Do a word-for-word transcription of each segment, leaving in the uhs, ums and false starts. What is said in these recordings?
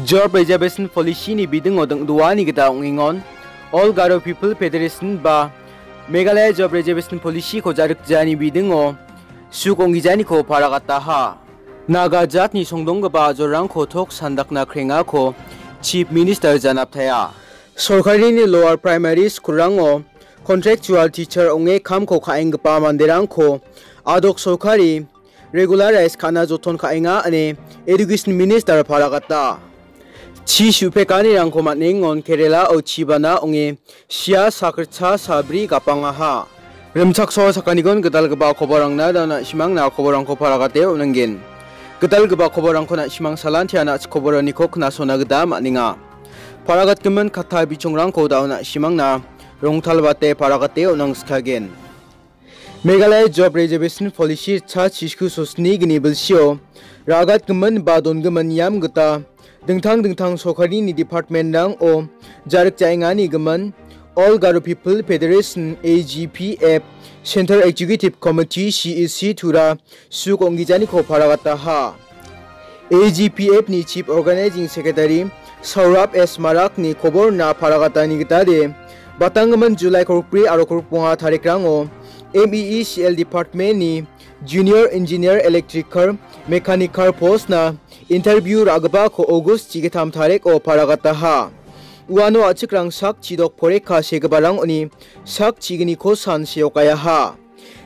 Job Reservation Policy-ni bidingo dingdoani gita ong·engon, All Garo People Federation ba Meghalaya Job Reservation Policy-ko ja·rikjaani bidingo suk ong·gijaniko paragataha. Naga jatni songdonggipa ajorrangko tok sandakna krengako Chief Minister janaptaia. Sorkarini lower primary school-rango contractual teacher ong·e kamko ka·enggipa manderangko adok sorkari regularize ka·na joton ka·enga ine Education Minister paragata. Chi su·pekanirangko man·engon Kerala-o chibana ong·e sia sakritcha sabri gapangaha. Rimchaksoa sakanigon gitalgipa koborangna da na·simangna koborangko paragate on·anggen. Gitalgipa koborangko na·simang salantia na·chik koboraniko knasona gita man·enga. Paragatgimin katta bichongrangko da·o na·simangna rongtalbate paragate on·angskagen. Meghalaya Job Reservation Policy cha chisku sosni gni bilsio ragatgimin ba dongimin niam gita dingtang dingtang sorkarini department-rango ja·rikjaengani gimin All Garo People Federation, A G P F, Central Executive Committee, C E C, tura suk ong·gijaniko paragataha. A G P F-ni Chief Organizing Secretary Saurabh S Marak-ni koborna paragatani gitade, batanggimin July kolgri aro kolgbonga tarikrango M E E C L Department-ni Junior Engineer Electrical Mechanical post-na interview ra·gipako August chigittam tariko paragataha. Uano a·chikrang sak chidok poreka segiparangoni sak chigniko san seokayaha.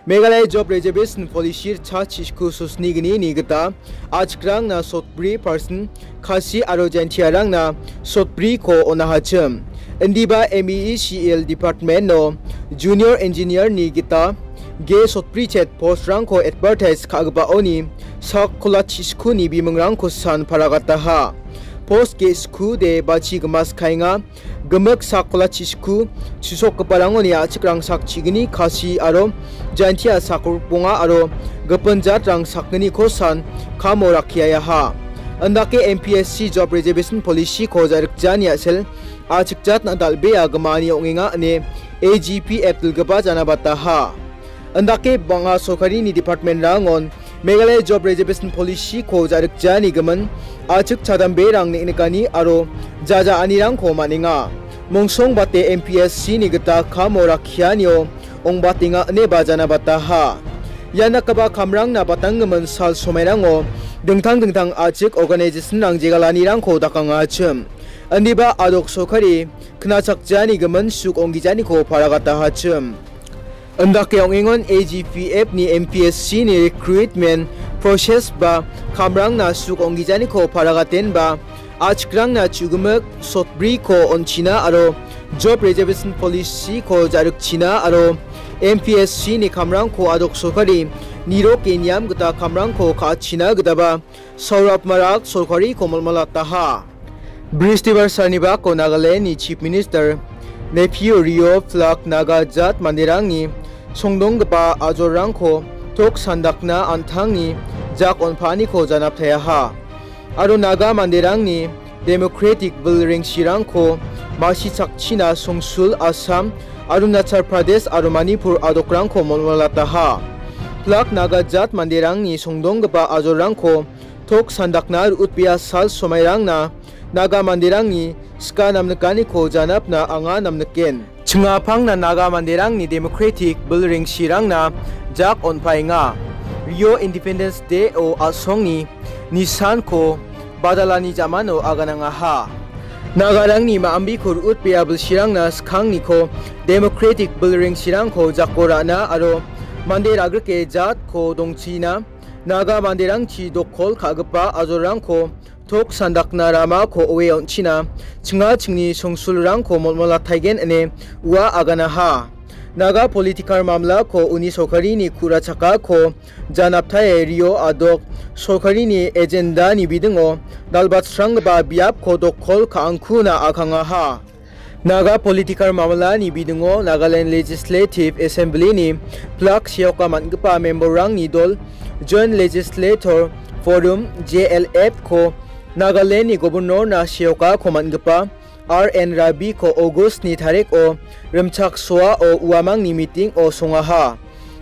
Meghalaya Job Reservation Policy cha chisku sosni gnini gita a·chikrangna sotbri percent, Khasi aro Jaintiarangna sotbriko on·ahachim. Indiba M E E C L Department-o Junior Engineer-ni gita ge sotbri chet post-rangko advertise ka·gipaoni sak kola chiskuni bimingrangko san paragataha. Post ge skude bachi gimaskaenga. Gimik sak kola chisku, chisokgiparangoni a·chikrang sak chigni Khasi aro Jaintia sak kolgbonga aro gipin jatrang sakgniko san kamo rakkiayaha. Indake M P S C Job Reservation Policy-ko ja·rikjani a·sel a·chik jatna dal·bea gimani ong·enga ine A G P F dilgipa janabataha. Indake bang·a sorkarini department-rangon Meghalaya Job Reservation Policy-ko ja·rikjani gimin a·chik chadamberang neng·nikani aro jaja·anirangko man·enga. Mongsongbate M P S C-ni gita kamo rakkianio ong·batenga ineba janabataha. Ia dakgipa kamrangna batanggimin sal somairango dingtang dingtang a·chik organization-rang jegalanirangko dakangachim. Indiba adok sorkari knachakjani gimin suk ong·gijaniko paragatahachim. Indake ong·engon A G P F-ni M P S C-ni recruitment process ba kamrangna suk ong·gijaniko paragatenba a·chikrangna chu·gimik sotbriko on·china aro Job Reservation Policy-ko ja·rikchina aro M P S C-ni kamrangko adok sorkari niroke niam gita kamrangko ka·achina gitaba Saurabh Marak sorkariko molmolataha. Bristibar salni bako Nagaland-ni Chief Minister Neiphiu Rio pilak Naga jat manderangni songdonggipa ajorrangko tok sandakna an·tangni jak on·paaniko janaptaeaha. Aro Naga manderangni democratic bilrengsirangko masichakchina songsul Assam, Arunachal Pradesh aro Manipur adokrangko molmolataha. Pilak Naga jat manderangni songdonggipa ajorrangko tok sandakna ru·utbea sal somairangna Naga manderangni sika namnikaniko janapna anga namniken. Chingapangna Naga manderangni democratic bilrengsirangna jak on·paenga. Rio Independence Day-o a·songni nisanko badalani jamano aganangaha. Nagarangni ma·ambiko ru·utbea bilsirangna skangniko democratic bilrengsirangko jako ra·na aro mande ra·grike jatko dongchina Naga manderangchi dokkol ka·gipa ajorrangko tok sandakna ramako oe on·china chinga chingni songsulrangko molmolataigen ine ua aganaha. Naga politikar mamlako uni sorkarini ku·ra chakako janaptae Rio adok sorkarini ejendani bidingo dalbatsranggipa biapko dokkol ka·angkuna akangaha. Naga politikar mamlani bidingo Nagaland Legislative Assembly-ni pilak seoka man·gipa member-rangni dol Joint Legislator Forum, J L F-ko Nagaland-ni Governor-na seokako man·gipa R N Rabi-ko August-ni tariko rimchaksoao uamangni meeting-o songaha.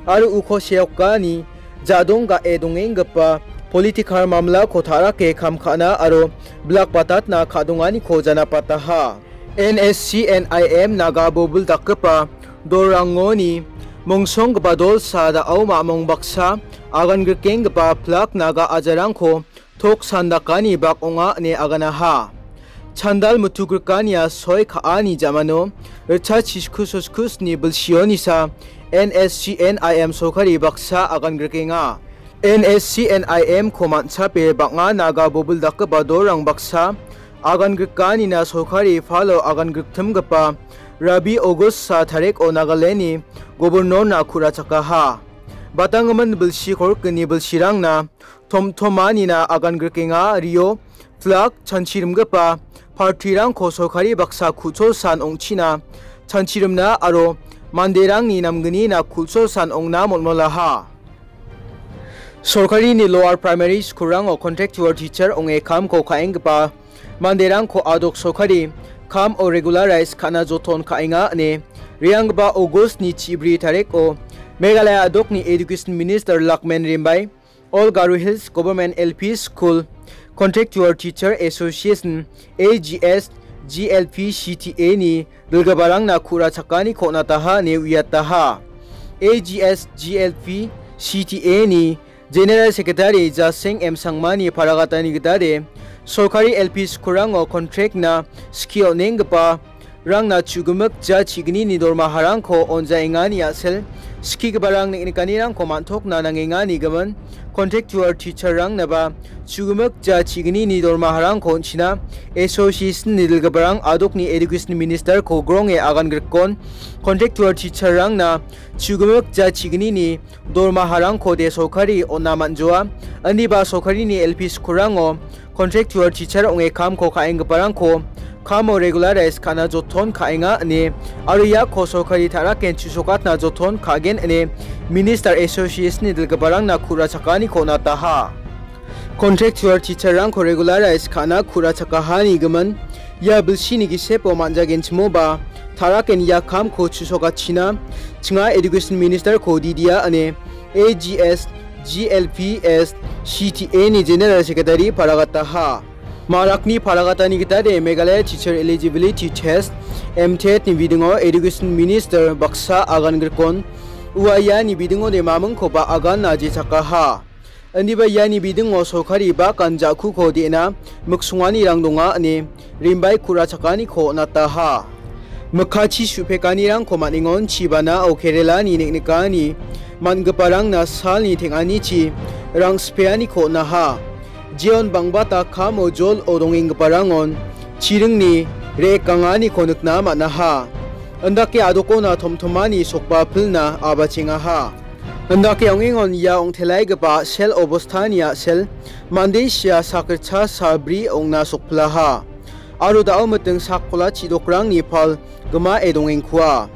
Aro uko seokani jadong ga·e dongenggipa politikar mamlako ta·rake kam ka·na aro bilak batatna ka·donganiko janapataha. N S C N I M Naga bobil dakgipa dolrangoni mongsonggipa dolsa da·o mamong baksa agan grikenggipa pilak Naga ajarangko tok sandakani bak ong·a ine aganaha. Chandal mutugrikania soi ka·ani jamano ritchasisku soskusni bilsionisa N S C N I M sorkari baksa agan grikenga. N S C N I M ko man·chape bang·a Naga bobil dakgipa dolrang baksa agan grikanina sorkari falo agan griktimgipa Rabi August sa tariko Nagalandni gobornorna ku·rachakaha. Batanggimin bilsi korikgni bilsirangna tomtomanina agan grikenga rio, flak, chanchirimgipa partirangko sorkari baksa ku·cholsan ong·china chanchirimna aro manderangni namgnina ku·cholsan ong·na molmolaha. Sorkarini lower primary school-rango contractual teacher ong·e kamko ka·enggipa manderangko adok sorkari kam o regularize ka·na joton ka·enga ine re·anggipa August-ni chibri tariko Meghalaya adokni Education Minister Lakmen Rimbai, All Garo Hills Government L P School Contractual Teacher Association, A G S G L P C T A-ni dilgiparangna ku·rachakani ko·nataha ine uiataha. A G S G L P C T A-ni General Secretary Jaseng M Sangmani paragatani gitade, sorkari L P school-rango contract-na skie on·enggipa rangna chu·gimik ja chignini dormaharangko on·jaengani a·sel, skigiparang neng·nikanirangko man·tokna nangengani gimin, contractual teacher-rangnaba chu·gimik ja chignini dormaharangko on·china association-ni dilgiparang adokni education minister-ko gronge agan grikon, contractual teacher-rangna chu·gimik ja chignini dormaharangko de sorkari on·a man·joa, indiba sorkarini L P school-rango contractual teacher ong·e kamko ka·enggiparangko kamo regularize ka·na joton ka·enga ine aro iako sorkari ta·raken chu·sokatna joton ka·gen ine Minister Association-ni dilgiparangna ku·rachakani ko·nataha. Contractual teacher-rangko regularize ka·na ku·rachakahani gimin ia bilsini gisepo man·jagenchimoba ta·raken ia kamko chu·sokachina chinga Education Minister-ko didia ine A G S G L P S C T A-ni General Secretary paragataha. Marakni paragatani gitade Meghalaya Teacher Eligibility Test, M TET-ni bidingo Education Minister baksa agan grikon ua iani bidingode mamingkoba aganna jechakaha. Indiba iani bidingo sorkari bakan ja·kuko de·na miksonganirang donga ine Rimbai ku·rachakaniko nataha. Mikkachi su·pekanirangko man·engon chibanao Kerala-ni neng·nikani man·giparangna salni teng·anichi rangspeaniko on·aha. Jeon bangbata kamo jol-o dongenggiparangon chiringni re·kanganiko nikna man·aha. Indake adokona tomtomani sokba pilna abachengaha. Indake ong·engon ia ong·telaigipa a·sel obostani a·sel mande sia sakritcha sabri ong·na sokpilaha. Aro da·o miting sakkola chidokrangni pal gimao dongengkua.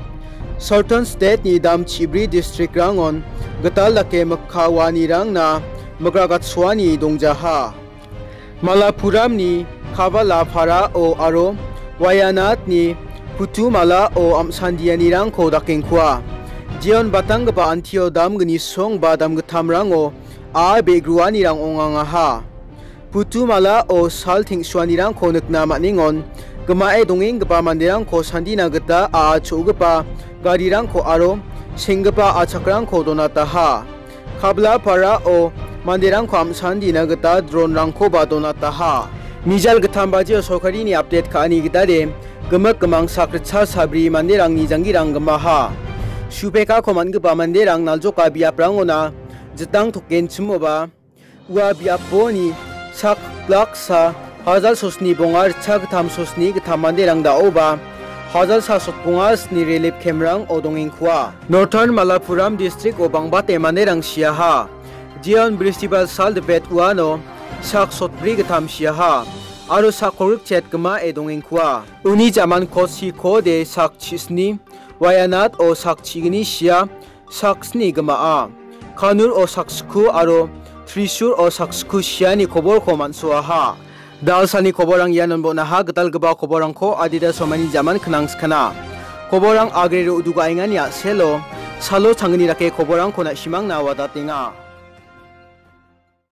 Southern State-ni dam chibri district-rangon gital dake mikka waanirangna migragatsoani dongjaha. Malappuram-ni Kavala Parao aro Wayanad-ni Putumalao am·sandianirangko dakengkua. Jeon batanggipa Antio damgni song ba damgittamrango a·a be·gruanirang ong·angaha. Putumalao sal teng·suanirangko nikna man·engon, gimae dongenggipa manderangko sandina gita a·a cho·gipa garirangko aro seng·gipa a·chakrangko donataha. Kabla Parao manderangko am·sandina gita dronrangkoba donataha. Mijal gittam bajio sorkarini update ka·ani gitade gimik gimang sakritcha sabri manderangni janggirang gimaha. Supekako man·gipa manderang naljoka biaprangona jitang tokenchimoba, ua biaponi sak laksa hajal sosni bonga ritcha gittam sosni gittam manderang da·oba hajal sa sotbonga sni relief camp-rango dongengkua. Northern Malappuram district-o bangbate manderang siaha. Jeon Bristibal sal dipet uano sak sotbri gittam siaha. Aro sak kolgrik chet gimae dongengkua. Uni jaman Koshikode sak chisni, Wayanad-o sak chigni sia, sak sni gimaa. Kannur-o sak sku aro Thrissur-o sak sku siani koborko man·soaha. Dalsani koborang ianon bon·aha, gitalgipa koborangko adita somani jaman knangskana. Koborang agrero udugaengani a·selo salo changgni dake koborangko na·simangna wadatenga.